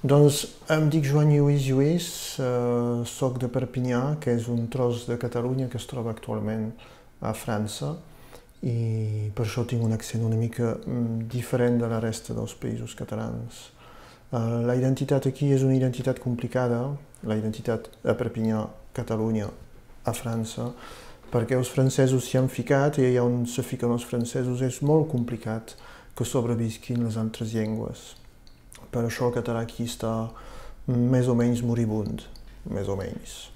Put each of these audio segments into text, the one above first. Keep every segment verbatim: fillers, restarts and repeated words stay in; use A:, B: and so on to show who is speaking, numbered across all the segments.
A: Doncs em dic Joan Lluís Lluís, eh, soc de Perpinyà, que és un tros de Catalunya que es troba actualment a França, i per això tinc un accent una mica mm, diferent de la resta dels països catalans. Eh, la identitat aquí és una identitat complicada, la identitat a Perpinyà, Catalunya, a França, perquè els francesos s'hi han ficat i allà on se fiquen els francesos és molt complicat que sobrevisquin les altres llengües. Per això el català aquí està més o menys moribund, més o menys.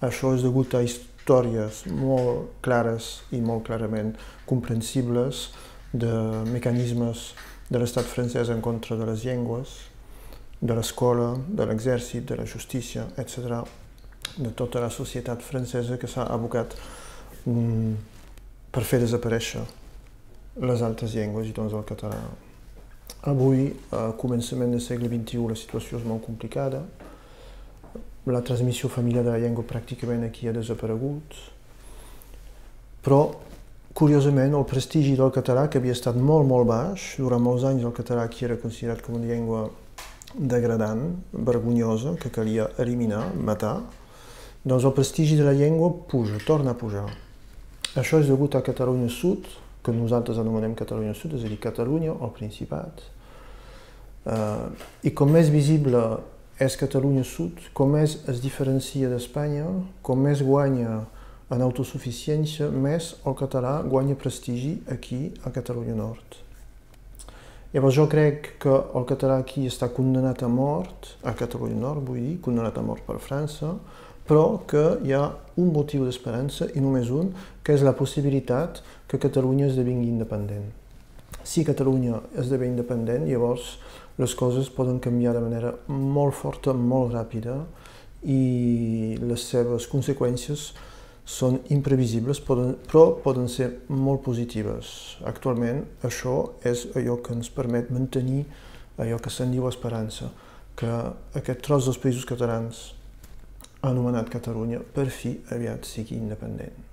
A: Això és degut a històries molt clares i molt clarament comprensibles de mecanismes de l'estat francès en contra de les llengües, de l'escola, de l'exèrcit, de la justícia, etcètera, de tota la societat francesa que s'ha abocat mm, per fer desaparèixer les altres llengües i doncs el català. Avui, a començament del segle vint-i-u, la situació és molt complicada. La transmissió familiar de la llengua pràcticament aquí ha desaparegut. Però, curiosament, el prestigi del català, que havia estat molt, molt baix, durant molts anys el català aquí era considerat com una llengua degradant, vergonyosa, que calia eliminar, matar, doncs el prestigi de la llengua puja, torna a pujar. Això és degut a Catalunya Sud, que nosaltres anomenem Catalunya Sud, és a dir, Catalunya o Principat. Uh, I com més visible és Catalunya Sud, com més es diferencia d'Espanya, com més guanya en autosuficiència, més el català guanya prestigi aquí a Catalunya Nord. Llavors jo crec que el català aquí està condemnat a mort, a Catalunya Nord vull dir, condemnat a mort per França, però que hi ha un motiu d'esperança, i només un, que és la possibilitat que Catalunya esdevingui independent. Si Catalunya esdevé independent, llavors les coses poden canviar de manera molt forta, molt ràpida, i les seves conseqüències són imprevisibles, poden, però poden ser molt positives. Actualment, això és allò que ens permet mantenir allò que se'n diu esperança, que aquest tros dels països catalans anomenat Catalunya, per fi aviat sigui independent.